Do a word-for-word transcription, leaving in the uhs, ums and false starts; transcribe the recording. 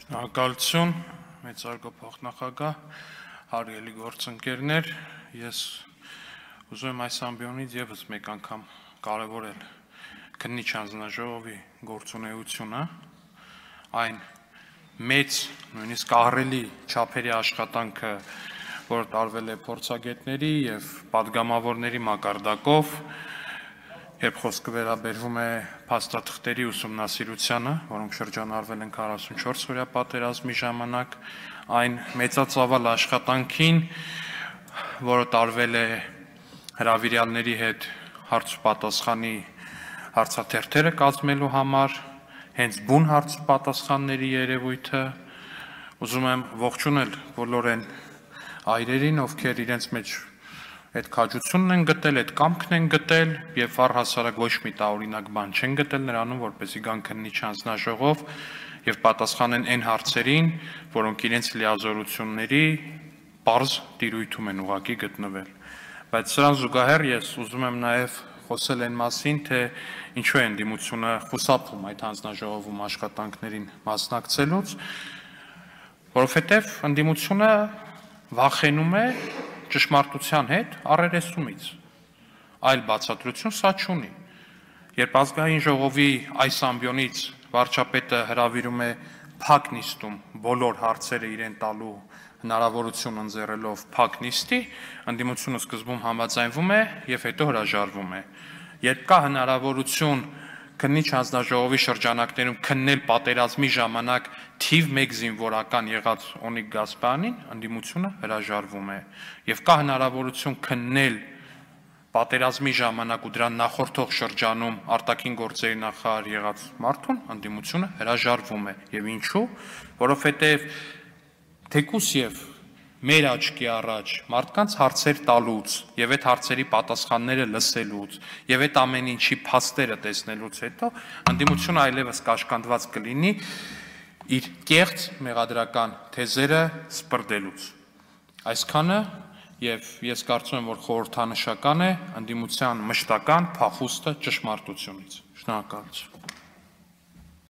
Շնորհակալություն, մեծարգո փոխնախագահ, հարգելի գործընկերներ, ես ուզում եմ այս ամբիոնից եւս մեկ անգամ կարևորել քննիչ հանձնաժողովի գործունեությունը, այն մեծ, նույնիսկ ահռելի չափերի աշխատանքը, որ տարվել է փորձագետների եւ պատգամավորների մակարդակով, երբ խոսքը վերաբերվում է փաստաթղթերի ուսումնասիրությանը, որոնք շրջանառվել են քառասունչորս օրյա պատերազմի ժամանակ, այն մեծածավալ աշխատանքին, որը տարվել է հրավիրյալների հետ հարց ու պատասխանի հարցաթերթերը կազմելու համար, հենց բուն հարց ու պատասխանների երևույթը, ուզում եմ ողջունել բոլոր այն այրերին, ովքեր իրենց մեջ այդ քաջությունն են գտել, այդ կամքն են գտել եւ առհասարակ ոչ մի տարօրինակ բան չեն գտել նրանում, որպեսզի գան քննիչ հանձնաժողով եւ պատասխանեն այն հարցերին, որոնք իրենց լիազորությունների պարզ տիրույթում են ուղղակի գտնվել։ Բայց սրան զուգահեռ ես ուզում եմ նաեւ խոսել այն մասին, թե ինչու է ընդդիմությունը խուսափում այդ հանձնաժողովում աշխատանքներին մասնակցելուց, որովհետեւ ընդդիմությունը վախենում է ճշմարտության հետ առերեսումից, այլ բացատրություն սա չունի։ Երբ ազգային ժողովի այս ամբիոնից վարչապետը հրավիրում է փակ նիստում բոլոր հարցերը իրեն տալու հնարավորություն ընձեռելով փակ նիստի, ընդդիմությունը սկզբում համաձայնվում է եւ հետո հրաժարվում է։ Երբ կա հնարավորություն քննիչ հանձնաժողովի շրջանակներում քննել պատերազմի ժամանակ թիվ մեկ զինվորական եղած Օնիկ Գասպարյանին, ընդդիմությունը հրաժարվում է։ Եվ կա հնարավորություն քննել պատերազմի ժամանակ ու դրան նախորդող շրջանում արտաքին գործերի նախարար եղած մարդուն, ընդդիմությունը հրաժարվում է։ Եվ ինչու՞, որովհետև թեկուզ եւ մեր աչքի առաջ մարդկանց հարցեր տալուց եւ այդ հարցերի պատասխանները լսելուց եւ այդ ամեն ինչի փաստերը տեսնելուց հետո ընդդիմությունը այլևս կաշկանդված կլինի իր կեղծ մեղադրական թեզերը սպրդելուց։ Այսքանը եւ ես կարծում եմ, որ խորհրդանշական է ընդդիմության մշտական փախուստը ճշմարտությունից։ Շնորհակալություն։